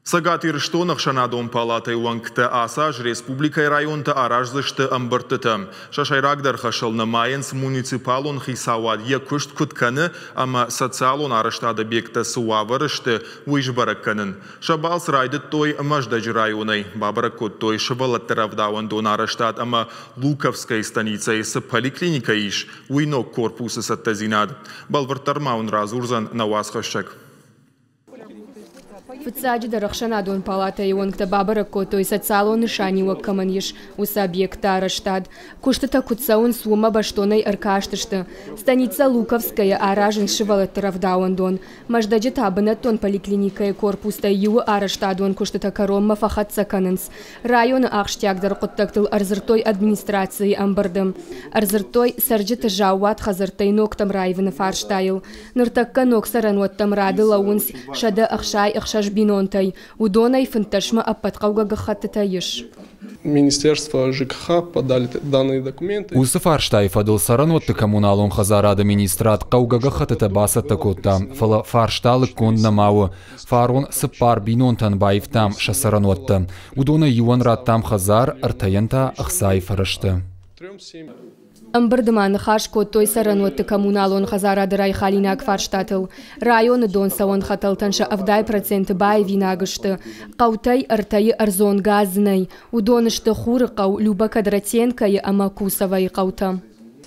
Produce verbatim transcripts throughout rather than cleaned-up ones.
Цӕгат Ирыстоны ӕхсӕнадон палатӕйы уӕнгтӕ ацы аз республикӕйы районты араздзысты ӕмбырдтытӕ. Сӕ сӕйрагдӕр хӕсыл нымайынц муниципалон хицауад йӕ куыст куыд кӕны ӕмӕ социалон арӕзтады объекттӕ цы уавӕры сты, уый сбӕрӕг кӕнын. Сӕ балц райдыдтой Мӕздӕджы районӕй. Бабӕрӕг кодтой сывӕллӕтты рӕвдауӕндоны арӕзтад ӕмӕ Луковскӕйы станицӕйы цы поликлиникӕ ис, уый ног корпусы цӕттӕдзинад. Бӕлвырддӕр ма уын радзурдзӕн нӕ уацхӕссӕг. Фыццаджыдӕр ӕхсӕнадон палатӕйы уӕнгтӕ бабӕрӕг кодтой социалон нысаниуӕг кӕмӕн ис, уыцы объектты арӕзтад. Куыстытӕ куыд цӕуынц, уымӕ бӕстонӕй ӕркастысты. Станицӕ Луковскӕйы аразынц сывӕллӕтты рӕвдауӕндон. Мӕздӕджы та бынӕттон поликлиникӕйы корпустӕй иуы арӕзтадон куыстытӕ кӕронмӕ фӕхӕццӕ кӕнынц. Районы ахсджиагдӕр хъуыддӕгтыл ӕрдзырдтой администрацийы ӕмбырды. Ӕрдзырдтой цӕрджыты заууат хӕдзӕрттӕй ногтӕм раивыны фарстайыл. Ныртӕккӕ ног цӕрӕнуӕттӕм рады лӕууынц сӕдӕ ӕхсай ӕхсӕз бинонтӕй. Уыдонӕй фынддӕсмӕ ӕппӕт хъӕугӕ гӕххӕттытӕ ис. Министерство ЖКХ подали данные документы. Уыцы фарстайы фӕдыл цӕрӕнуӕтты коммуналон хӕдзарады министрад хъӕугӕ гӕххӕттытӕ бацӕттӕ кодта, фӕлӕ фарста лыггонд нӕма у. Фарон цыппар бинонтӕн баивтам сӕ цӕрӕнуӕттӕ. Уыдонӕй иуӕн радтам хӕдзар, ӕртӕйӕн та ӕхцайы фӕрӕзтӕ. Ӕмбырды ма ныхас кодтой цӕрӕнуӕтты коммуналон хӕдзарады райхалинаг фарстатыл. Районы донцӕуӕн хӕтӕлтӕн сӕ ӕвдай проценты баивинаг сты. Хъӕутӕй ӕртӕйы ӕрдзон газ нӕй. Уыдон сты Хурыхъӕу, Люба Кадратенкойы ӕмӕ Кусовойы хъӕутӕ.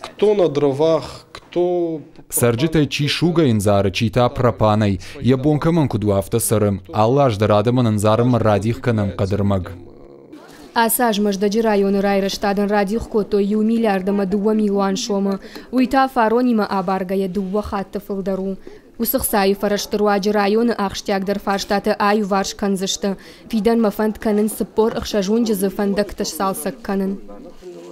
Кто на дровах, кто... Цӕрджытӕй чи сугӕй ӕндзары, чи та пропанӕй. Йӕ бон кӕмӕн куыд у, афтӕ цӕры. Алы аз дӕр адӕмӕн ӕндзарынмӕ радих кӕнӕм хъӕдырмӕг. Ацы аз Мӕздӕджы районы райрӕзтадӕн радих кодтой иу миллиард ӕмӕ дыууӕ милуан сомы. Уый та фаронимӕ абаргӕйӕ дыууӕ хатты фылдӕр у. Уыцы хцайы фӕрӕзты руаджы районы ахсджиагдӕр фарстатӕ аиуварс кӕндзысты. Фидӕнмӕ фӕнд кӕнынц цыппор ӕхсӕз уынджы дзы фӕндӕгтӕ сцалцӕг кӕнын.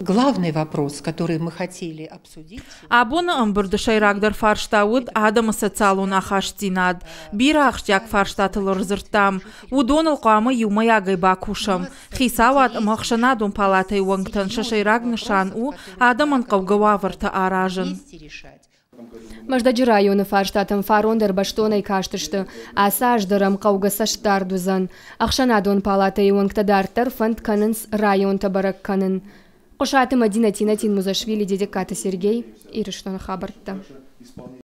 Главный вопрос, который мы хотели обсудить. Абоны ӕмбырды сӕйрагдӕр фарста уыд адӕмы социалон ахастдзинад. Бирӕ ахсджиаг фарстатыл ӕрдзырдтам. Уыдоныл хъуамӕ иумӕйагӕй бакусӕм. Хицауад ӕмӕ ӕхсӕнадон палатӕйы уӕнгтӕн сӕ сӕйраг нысан у адӕмӕн хъӕугӕ уавӕртӕ аразын. Мӕздӕджы районы фарстатӕм фарон дӕр бӕстонӕй кастысты. Ацы аз дӕр ӕм хъӕугӕ цӕстдард уыдзӕн. Ӕхсӕнадон палатӕйы уӕнгтӕ дарддӕр фӕнд кӕнынц районтӕ бӕрӕг кӕнын. Хъуысаты Мадина, Тинатин Музашвили, Дедеккаты Сергей, Ирыстоны хабӕрттӕ.